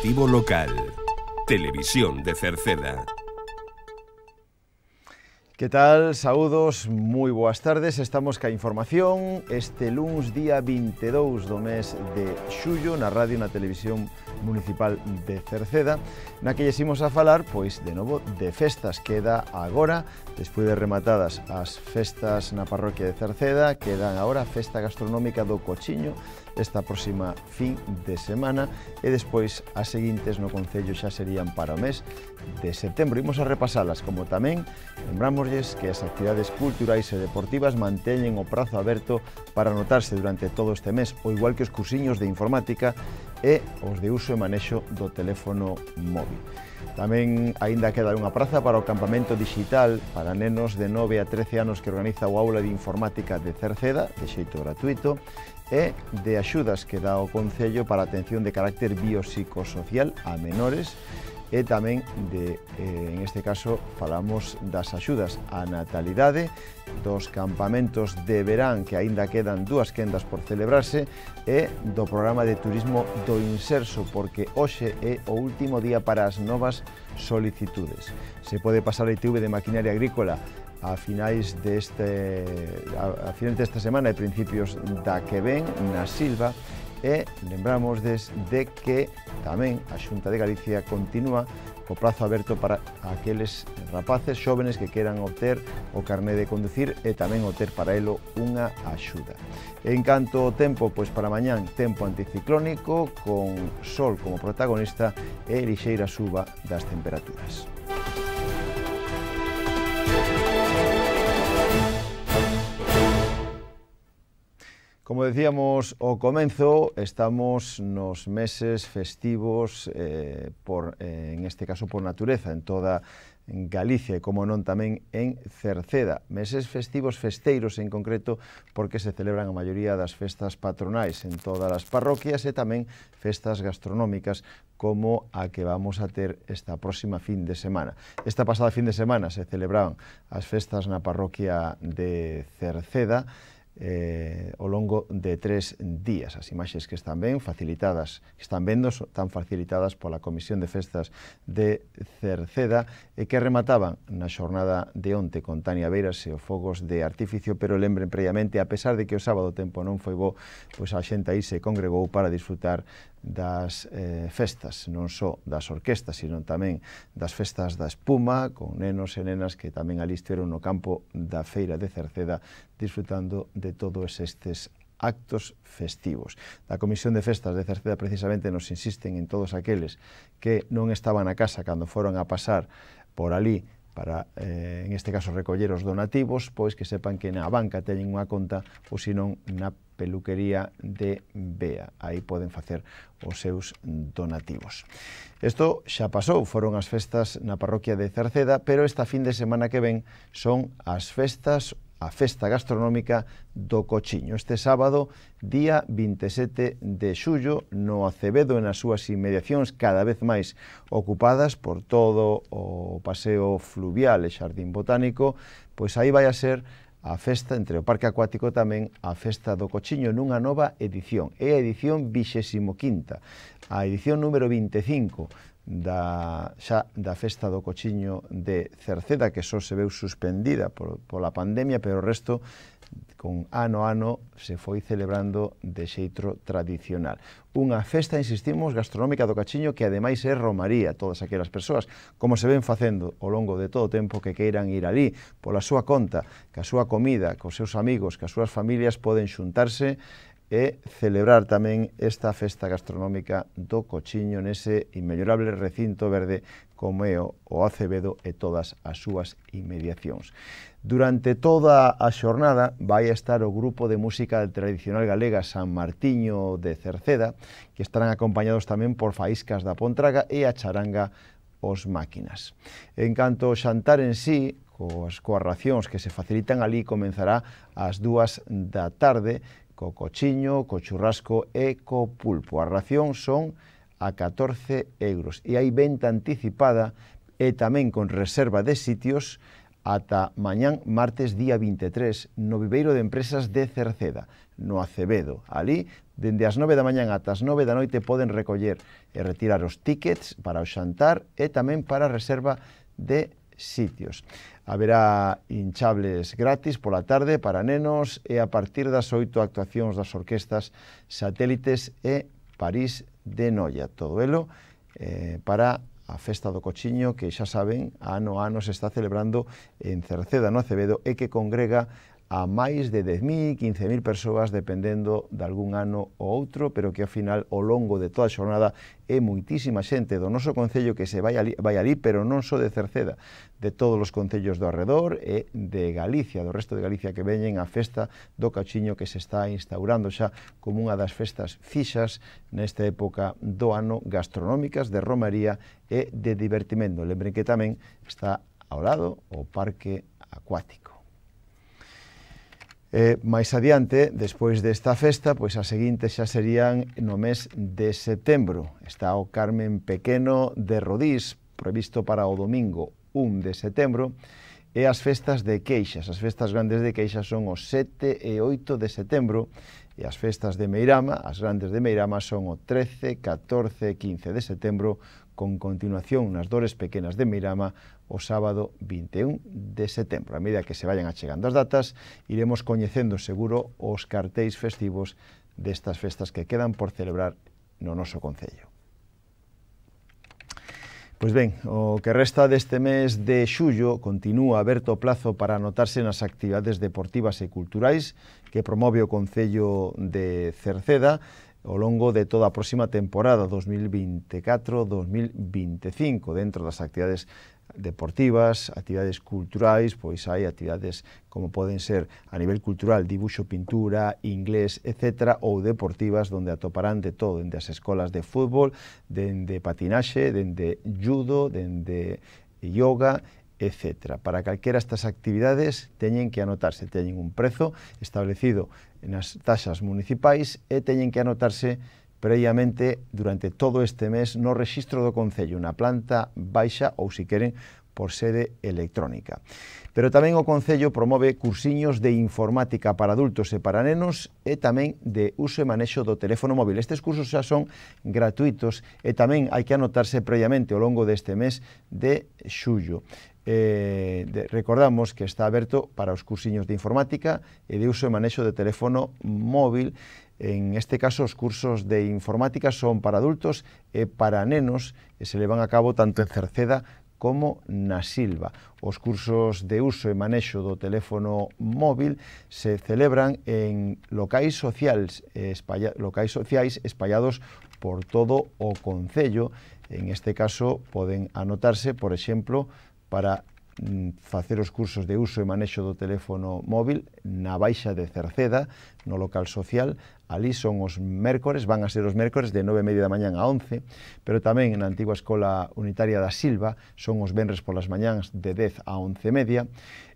Informativo local. Televisión de Cerceda. Que tal? Saúdos, moi boas tardes. Estamos ca información este luns día 22 do mes de xullo na radio e na televisión municipal de Cerceda, na que lles imos a falar, pois, de novo, de festas. Queda agora, despois de rematadas as festas na parroquia de Cerceda, quedan agora a festa gastronómica do Cochiño esta próxima fin de semana e despois as seguintes no concello xa serían para o mes de setembro. Imos a repasalas, como tamén lembramosles que as actividades culturais e deportivas manteñen o prazo aberto para anotarse durante todo este mes, o igual que os cursiños de informática e os de uso e manexo do teléfono móvil. Tamén aínda queda unha praza para o campamento digital para nenos de 9 a 13 anos que organiza o Aula de Informática de Cerceda, de xeito gratuito, e de axudas que dá o Concello para a atención de carácter biopsicosocial a menores e tamén en este caso falamos das axudas á natalidade, dos campamentos de verán que aínda quedan 2 quendas por celebrarse e do programa de turismo do Inserso, porque hoxe é o último día para as novas solicitudes. Se pode pasar a ITV de maquinaria agrícola a finais desta semana e principios da que ven na Silva, e lembramos de que tamén a Xunta de Galicia continúa co prazo aberto para aqueles rapaces xóvenes que queran obter o carné de conducir e tamén obter para elo unha axuda. En canto ao tempo, pois para mañán, tempo anticiclónico con sol como protagonista e lixeira suba das temperaturas. Como decíamos ao comenzo, estamos nos meses festivos, en este caso por natureza, en toda Galicia e, como non, tamén en Cerceda. Meses festivos festeiros en concreto porque se celebran a maioría das festas patronais en todas as parroquias e tamén festas gastronómicas como a que vamos a ter esta próxima fin de semana. Esta pasada fin de semana se celebraban as festas na parroquia de Cerceda, ao longo de 3 días. As imaxes que están ben facilitadas, que están vendo, están facilitadas pola Comisión de Festas de Cerceda e que remataban na xornada de onte con Tania Beiras e os fogos de artificio, pero lembren previamente, a pesar de que o sábado o tempo non foi bo, pois a xente aí se congregou para disfrutar das festas, non só das orquestas, sino tamén das festas da espuma, con nenos e nenas que tamén ali estiveron no campo da feira de Cerceda disfrutando de todos estes actos festivos. Da Comisión de Festas de Cerceda precisamente nos insisten en todos aqueles que non estaban a casa cando foron a pasar por ali para, en este caso, recoller os donativos, pois que sepan que na banca teñen unha conta ou senón na peluquería de Bea. Aí poden facer os seus donativos. Isto xa pasou, foron as festas na parroquia de Cerceda, pero esta fin de semana que ven son as festas, a festa gastronómica do Cochiño. Este sábado, día 27 de xullo, no Acevedo e nas súas inmediacións cada vez máis ocupadas por todo o paseo fluvial e xardín botánico, pois aí vai a ser a festa, entre o Parque Acuático tamén, a festa do Cochiño nunha nova edición. É a edición 25ª, a edición número 25 da festa do Cochiño de Cerceda, que só se veu suspendida pola pandemia, pero o resto, con ano a ano, se foi celebrando de xeito tradicional. Unha festa, insistimos, gastronómica do Cochiño que ademais é romaría. Todas aquelas persoas, como se ven facendo ao longo de todo o tempo, que queiran ir ali pola súa conta, ca súa comida, cos seus amigos, cas súas familias, poden xuntarse e celebrar tamén esta festa gastronómica do Cochiño nese inmellorable recinto verde como é o Acevedo e todas as súas inmediacións. Durante toda a xornada vai estar o grupo de música tradicional galega San Martiño de Cerceda, que estarán acompañados tamén por faíscas da Pontraga e a charanga Os Máquinas. En canto ao xantar en sí, coas racións que se facilitan ali, comenzará ás 2 da tarde, co cochiño, co churrasco e co pulpo. A ración son a 14 euros e hai venta anticipada e tamén con reserva de sitios ata mañán, martes, día 23, no Viveiro de Empresas de Cerceda, no Acevedo. Ali, dende as 9 da mañán ata as 9 da noite, poden recoller e retirar os tickets para o xantar e tamén para a reserva de sitios. Haberá hinchables gratis pola tarde para nenos e a partir das 8 actuacións das orquestas Satélites e París de Noia. Todo elo para a Festa do Cochiño, que xa saben, ano a ano se está celebrando en Cerceda, no Acevedo, e que congrega a máis de 10.000, 15.000 persoas, dependendo de algún ano ou outro, pero que ao final, ao longo de toda a xornada, é moitísima xente do noso concello que se vai ali, pero non só de Cerceda, de todos os concellos do arredor e de Galicia, do resto de Galicia, que veñen a Festa do Cochiño, que se está instaurando xa como unha das festas fixas nesta época do ano, gastronómicas, de romaría e de divertimento. Lembren que tamén está ao lado o parque acuático. Mais adiante, despois desta festa, pois as seguintes xa serían no mes de setembro. Está o Carmen Pequeno de Rodís, previsto para o domingo 1 de setembro, e as festas de Queixas. As festas grandes de Queixas son os 7 e 8 de setembro, e as festas de Meirama, as grandes de Meirama, son o 13, 14 e 15 de setembro, con continuación nas dores pequenas de Meirama o sábado 21 de setembro. A medida que se vayan achegando as datas, iremos coñecendo seguro os cartéis festivos destas festas que quedan por celebrar no noso concello. Pois ben, o que resta deste mes de xullo continúa aberto o plazo para anotarse nas actividades deportivas e culturais que promove o Concello de Cerceda ao longo de toda a próxima temporada 2024-2025. Dentro das actividades deportivas, actividades culturais, pois hai actividades como poden ser a nivel cultural, dibuixo, pintura, inglés, etc., ou deportivas, onde atoparán de todo, dende as escolas de fútbol, dende patinaxe, dende judo, dende yoga, etc. Para calquera estas actividades teñen que anotarse, teñen un prezo establecido nas taxas municipais e teñen que anotarse previamente durante todo este mes no rexistro do Concello, na planta baixa ou, se queren, por sede electrónica. Pero tamén o Concello promove cursiños de informática para adultos e para nenos e tamén de uso e manexo do teléfono móvil. Estes cursos xa son gratuitos e tamén hai que anotarse previamente ao longo deste mes de xullo. Recordamos que está aberto para os cursiños de informática e de uso e manexo de teléfono móvil. En este caso, os cursos de informática son para adultos e para nenos e se levan a cabo tanto en Cerceda como na Silva. Os cursos de uso e manexo do teléfono móvil se celebran en locais sociais espallados por todo o concello. En este caso, poden anotarse, por exemplo, para facer os cursos de uso e manexo do teléfono móvil na Baixa de Cerceda, no local social. Ali son os mércores, van a ser os mércores de 9:30 da mañán a 11, pero tamén na antigua Escola Unitaria da Silva son os venres polas mañáns de 10 a 11:30,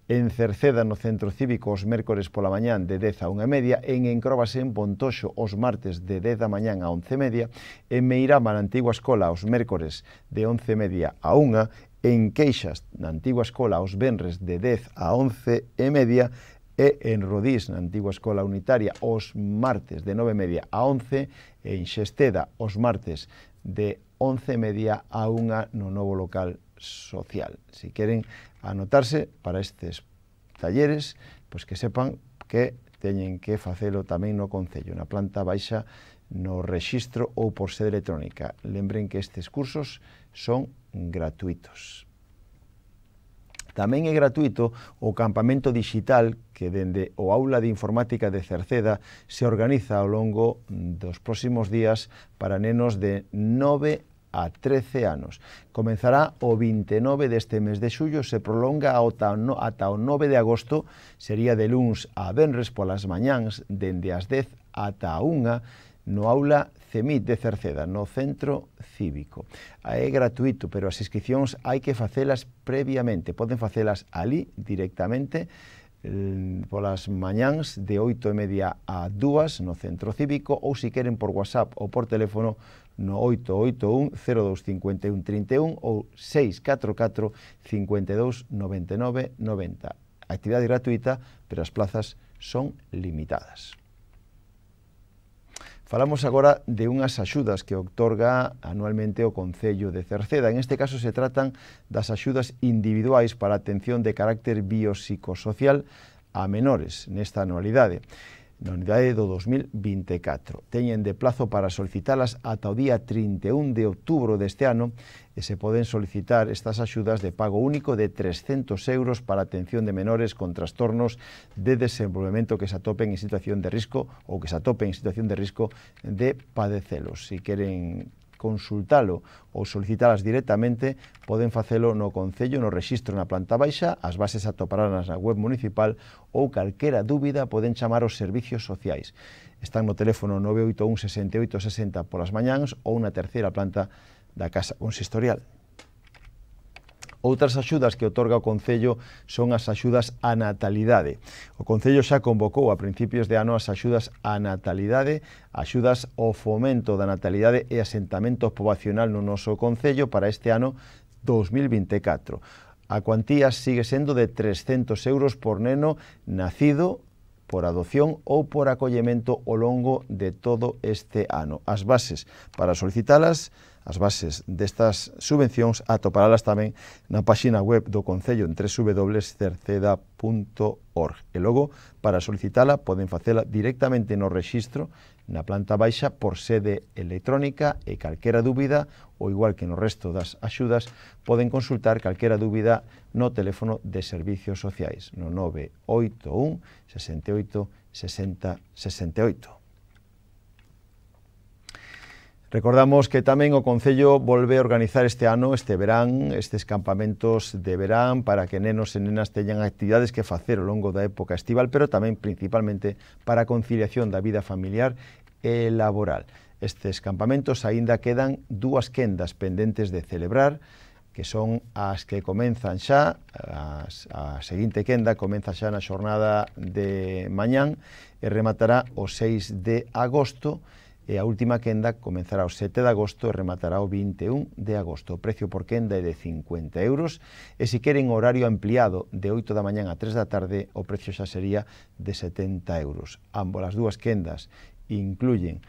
en Cerceda, no Centro Cívico, os mércores pola mañán de 10 a 1:30, en Encróbase, en Pontoxo, os martes de 10 da mañán a 11:30, en Meirama, na antigua escola, os mércores de 11:30 a 1, en Queixas, na antigua escola, os venres de 10 a 11:30, e en Rodís, na antigua escola unitaria, os martes de 9:30 a 11, e en Xesteda, os martes de 11:30 a 1 no novo local social. Si queren anotarse para estes talleres, pois que sepan que teñen que facelo tamén no Concello, na planta baixa, no rexistro ou por sede electrónica. Lembren que estes cursos son gratuitos. Tamén é gratuito o campamento digital que dende o Aula de Informática de Cerceda se organiza ao longo dos próximos días para nenos de 9 a 13 anos. Comenzará o 29 deste mes de xullo, se prolonga ata o 9 de agosto, sería de luns a venres polas mañáns, dende as 10 ata a 1, no Aula CEMIT de Cerceda, no Centro Cívico. É gratuito, pero as inscripcións hai que facelas previamente. Poden facelas ali directamente polas mañáns de 8:30 a 2 no Centro Cívico, ou se queren por WhatsApp ou por teléfono no 881 0251 31 ou 644 52 99 90. Actividade gratuita, pero as plazas son limitadas. Falamos agora de unhas axudas que outorga anualmente o Concello de Cerceda. En este caso se tratan das axudas individuais para a atención de carácter biopsicosocial a menores nesta anualidade. Na unidade do 2024. Teñen de plazo para solicitalas ata o día 31 de outubro deste ano e se poden solicitar estas axudas de pago único de 300 euros para a atención de menores con trastornos de desenvolvemento que se atopen en situación de risco ou que se atopen en situación de risco de padecelos. Si queren consultalo ou solicitalas directamente, poden facelo no Concello, no rexistro na planta baixa, as bases atoparás na web municipal ou calquera dúbida poden chamar aos servicios sociais. Están no teléfono 981 68 60 polas mañáns ou na terceira planta da Casa Consistorial. Outras axudas que outorga o Concello son as axudas á natalidade. O Concello xa convocou a principios de ano as axudas á natalidade, axudas ao fomento da natalidade e asentamento poboacional no noso Concello para este ano 2024. A cuantía sigue sendo de 300 euros por neno nacido por adopción ou por acollemento ao longo de todo este ano. As bases para solicitalas, as bases destas subvencións atoparalas tamén na páxina web do Concello en www.cerceda.org. E logo, para solicitala, poden facela directamente no rexistro na planta baixa por sede electrónica e calquera dúbida, ou igual que no resto das axudas, poden consultar calquera dúbida no teléfono de servicios sociais, no 981 68 60 68. Recordamos que tamén o Concello volve a organizar este ano, este verán, estes campamentos de verán para que nenos e nenas teñan actividades que facer ao longo da época estival, pero tamén principalmente para a conciliación da vida familiar e laboral. Estes campamentos aínda quedan dúas quendas pendentes de celebrar, que son as que comenzan xa, a seguinte quenda comeza xa na xornada de mañán e rematará o 6 de agosto, e a última quenda comenzará o 7 de agosto e rematará o 21 de agosto. O precio por quenda é de 50 euros e se queren horario ampliado de 8 da mañán a 3 da tarde, o precio xa sería de 70 euros. Ambos as dúas quendas incluyen,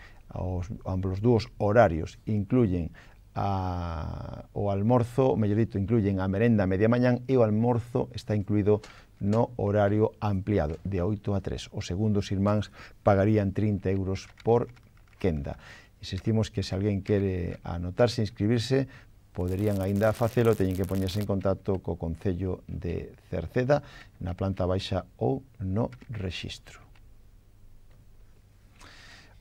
ambos os dúos horarios incluyen o almorzo, mellor dito, incluyen a merenda a media mañán e o almorzo está incluído no horario ampliado de 8 a 3. Os segundos irmáns pagarían 30 euros por quenda. Insistimos que se alguén quere anotarse, inscribirse, poderían aínda facelo, teñen que poñerse en contacto co Concello de Cerceda na planta baixa ou no rexistro.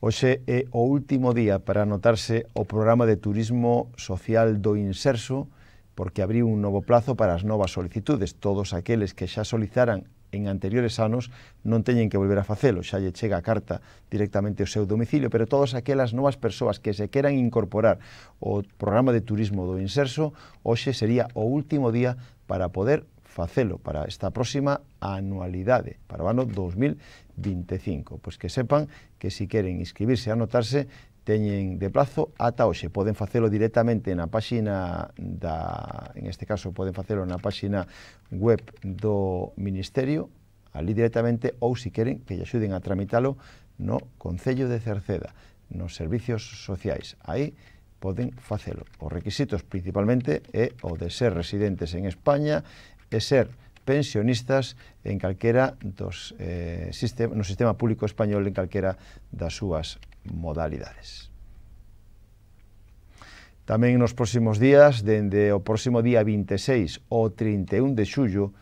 Hoxe é o último día para anotarse o programa de turismo social do Inserso, porque abriu un novo plazo para as novas solicitudes. Todos aqueles que xa solicitaran en anteriores anos non teñen que volver a facelo, xa lle chega a carta directamente ao seu domicilio, pero todas aquelas novas persoas que se queran incorporar ao programa de turismo do Inserso, hoxe sería o último día para poder facelo para esta próxima anualidade, para o ano 2025. Pois que sepan que se queren inscribirse e anotarse, teñen de plazo ata hoxe. Poden facelo directamente na páxina en este caso poden facelo na páxina web do Ministerio, ali directamente, ou se queren que lle axuden a tramitalo no Concello de Cerceda, nos servicios sociais. Aí poden facelo. Os requisitos principalmente é o de ser residentes en España e ser pensionistas en calquera dos no sistema público español en calquera das súas modalidades. Tamén nos próximos días, dende o próximo día 26 ao 31 de xullo,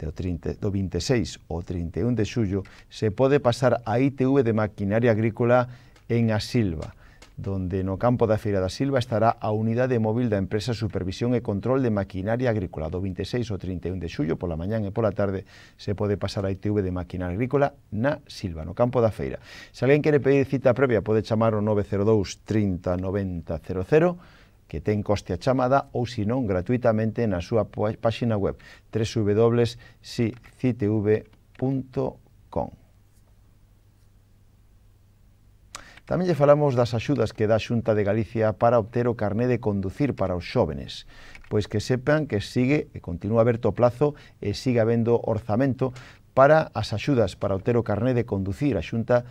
do 26 ao 31 de xullo, se pode pasar a ITV de maquinaria agrícola en A Silva, donde no campo da Feira da Silva estará a unidade móvil da empresa Supervisión e Control de Maquinaria Agrícola. Do 26 ao 31 de xullo, pola mañán e pola tarde, se pode pasar a ITV de Maquinaria Agrícola na Silva, no campo da Feira. Se alguén quere pedir cita previa, pode chamar o 902 30 90 00, que ten coste a chamada, ou se non, gratuitamente na súa páxina web www.sicitv.com. Tamén lle falamos das axudas que dá a Xunta de Galicia para obter o carné de conducir para os xóvenes. Pois que sepan que sigue e continúa aberto o plazo e sigue habendo orzamento para as axudas para obter o carné de conducir. A Xunta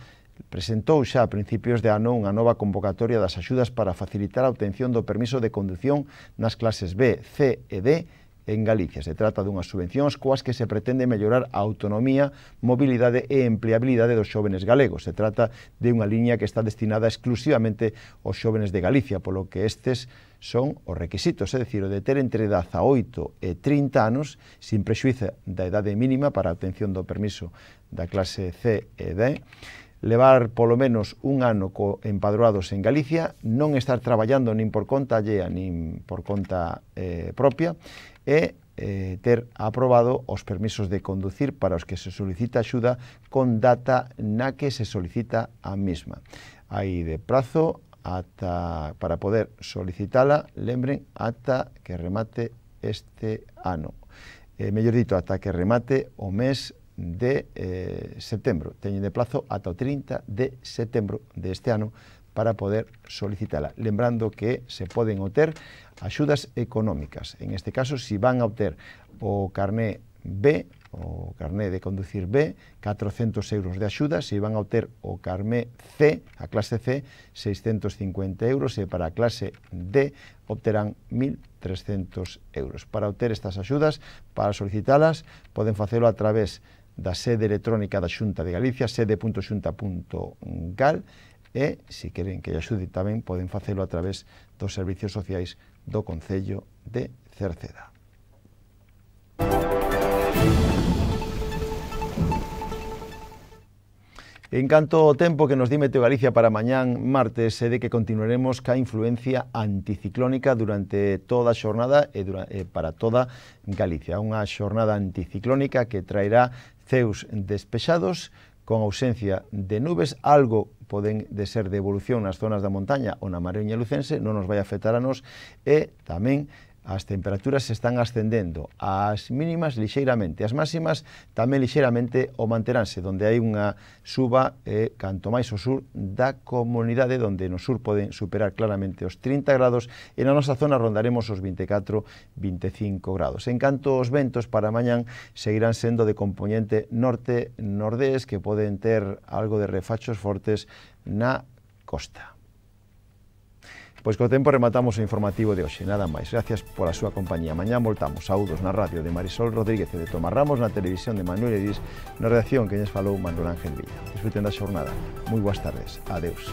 presentou xa a principios de ano unha nova convocatoria das axudas para facilitar a obtención do permiso de condución nas clases B, C e D en Galicia. Se trata dunhas subvencións coas que se pretende mellorar a autonomía, mobilidade e empleabilidade dos xóvenes galegos. Se trata de unha liña que está destinada exclusivamente aos xóvenes de Galicia, polo que estes son os requisitos, é dicir, o de ter entre 18 e 30 anos, sin prexuízo da idade mínima para a obtención do permiso da clase C e D, levar polo menos un ano empadroados en Galicia, non estar traballando nin por conta allea nin por conta propia, e ter aprobado os permisos de conducir para os que se solicita axuda con data na que se solicita a mesma. Hai de prazo para poder solicitala, lembren, ata que remate este ano. Mellor dito, ata que remate o mes de setembro. Teñen de plazo ata o 30 de setembro deste ano para poder solicitala. Lembrando que se poden obter axudas económicas. En este caso, si van a obter o carné B, o carné de conducir B, 400 euros de axuda. Si van a obter o carné C, a clase C, 650 euros, e para a clase D obterán 1.300 euros. Para obter estas axudas, para solicitalas, poden facelo a través da sede electrónica da Xunta de Galicia, sede.xunta.gal, e, se queren que lle axude tamén, poden facelo a través dos servicios sociais do Concello de Cerceda. En canto ao tempo que nos di Meteo Galicia para mañán martes, é de que continuaremos ca influencia anticiclónica durante toda a xornada e para toda Galicia. Unha xornada anticiclónica que traerá ceus despexados, con ausencia de nubes. Algo poden de ser de evolución nas zonas da montaña ou na Mariña Lucense, non nos vai afectar a nos, e tamén as temperaturas se están ascendendo, as mínimas lixeiramente, as máximas tamén lixeiramente o manteránse, donde hai unha suba canto máis ao sur da comunidade, donde no sur poden superar claramente os 30 grados e na nosa zona rondaremos os 24-25 grados. En canto aos ventos, para mañán seguirán sendo de compoñente norte-nordés, que poden ter algo de refachos fortes na costa. Pois co tempo rematamos o informativo de hoxe, nada máis. Gracias pola súa compañía. Mañá voltamos. Saúdos na radio de Marisol Rodríguez e de Tomás Ramos, na televisión de Manuel Edís, na redacción que lles falou Manuel Ángel Villa. Disfruten da xornada. Moi boas tardes. Adeus.